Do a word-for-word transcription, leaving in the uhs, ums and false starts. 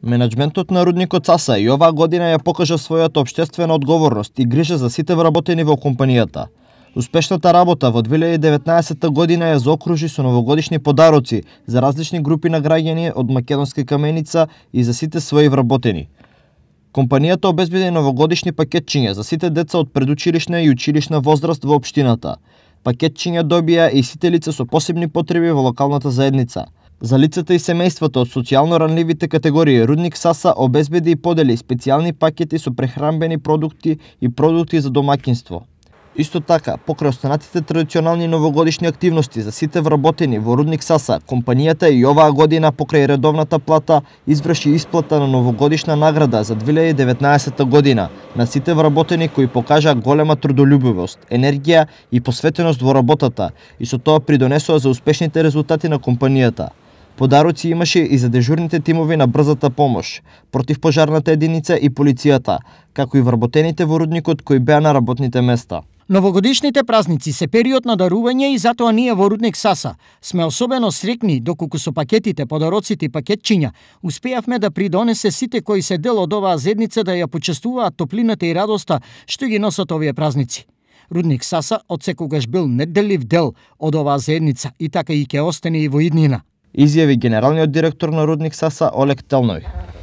Менаџментот на рудникот Саса и оваа година ја покажа својата општествена одговорност и грижа за сите вработени во компанијата. Успешната работа во две илјади и деветнаесетта година ја заокружи со новогодишни подароци за различни групи на граѓани од Македонска каменица и за сите своји вработени. Компанијата обезбеди новогодишни пакетчиња за сите деца од предучилишна и училишна возраст во општината. Пакетчиња добија и сите лица со посебни потреби во локалната заедница. За лицата и семејствата од социјално ранливите категории, Рудник Саса обезбеди и подели специјални пакети со прехранбени продукти и продукти за домаќинство. Исто така, покрај останатите традиционални новогодишни активности за сите вработени во Рудник Саса, компанијата и оваа година покрај редовната плата изврши исплата на новогодишна награда за две илјади и деветнаесетта година на сите вработени кои покажаа голема трудолюбивост, енергија и посветеност во работата и со тоа придонесоа за успешните резултати на компанијата. Подароци имаше и за дежурните тимови на брзата помош, противпожарната единица и полицијата, како и вработените во рудникот кои беа на работните места. Новогодишните празници се период на дарување и затоа ние во Рудник Саса сме особено среќни доколку со пакетите, подароците и пакетчиња успеавме да придонесе сите кои се дел од оваа заедница да ја почестуваат топлината и радоста што ги носат овие празници. Рудник Саса отсекогаш бил неделив дел од оваа заедница и така и ќе остане и во иднина. Изјави генералниот директор на Рудник Саса Олег Телној.